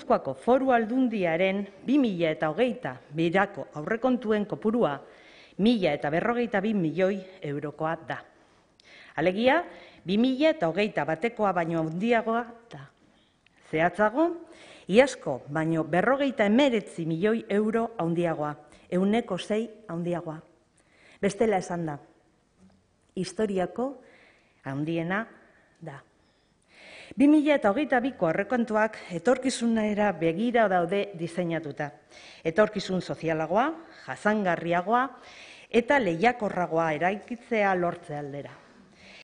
Gipuzkoako Foru Aldundiaren 2020 birako aurrekontuen kopurua 1.052 milioi eurokoa da. Alegia, 2020 batekoa baino handiagoa da. Zehatzago, iazko baino 59 milioi euro handiagoa, 6% handiagoa. Bestela esan da, historiako handiena da. 2022ko aurrekontuak etorkizunera begira daude diseinatuta. Etorkizun sozialagoa, jasangarriagoa eta lehiakorragoa eraikitzea lortze aldera.